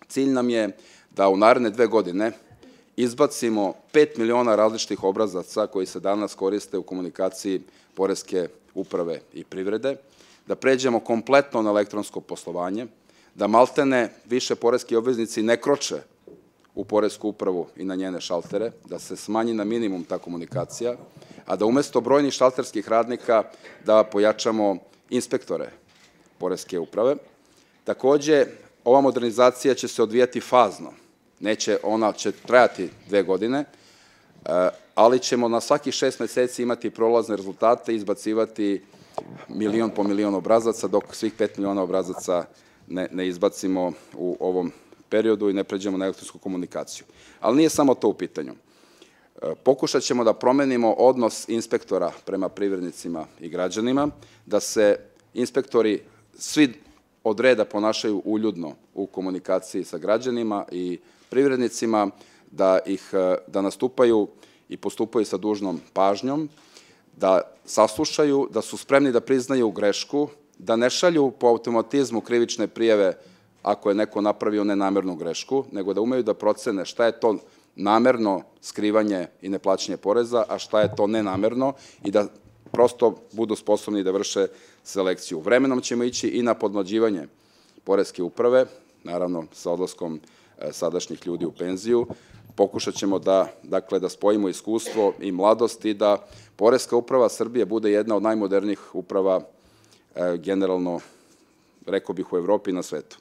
Cilj nam je da u naredne 2 godine izbacimo 5 miliona različitih obrazaca koji se danas koriste u komunikaciji Poreske uprave i privrede, da pređemo kompletno na elektronsko poslovanje, da maltene više poreski obveznici ne kroče u Poresku upravu i na njene šaltere, da se smanji na minimum ta komunikacija, a da umesto brojnih šalterskih radnika da pojačamo inspektore Poreske uprave. Takođe, ova modernizacija će se odvijati fazno. Ona će trajati 2 godine, ali ćemo na svakih 6 meseci imati prolazne rezultate i izbacivati milion po milion obrazaca, dok svih 5 miliona obrazaca ne izbacimo u ovom periodu i ne pređemo na elektronsku komunikaciju. Ali nije samo to u pitanju. Pokušat ćemo da promenimo odnos inspektora prema privrednicima i građanima, da se inspektori svi od reda ponašaju uljudno u komunikaciji sa građanima i privrednicima, da nastupaju i postupaju sa dužnom pažnjom, da saslušaju, da su spremni da priznaju grešku, da ne šalju po automatizmu krivične prijave ako je neko napravio nenamernu grešku, nego da umeju da procene šta je to namerno skrivanje i neplaćanje poreza, a šta je to nenamerno i da prosto budu sposobni da vrše selekciju. Vremenom ćemo ići i na podmlađivanje Poreske uprave, naravno sa odlaskom sadašnjih ljudi u penziju. Pokušat ćemo da spojimo iskustvo i mladost i da Poreska uprava Srbije bude jedna od najmodernijih uprava generalno, rekao bih, u Evropi i na svetu.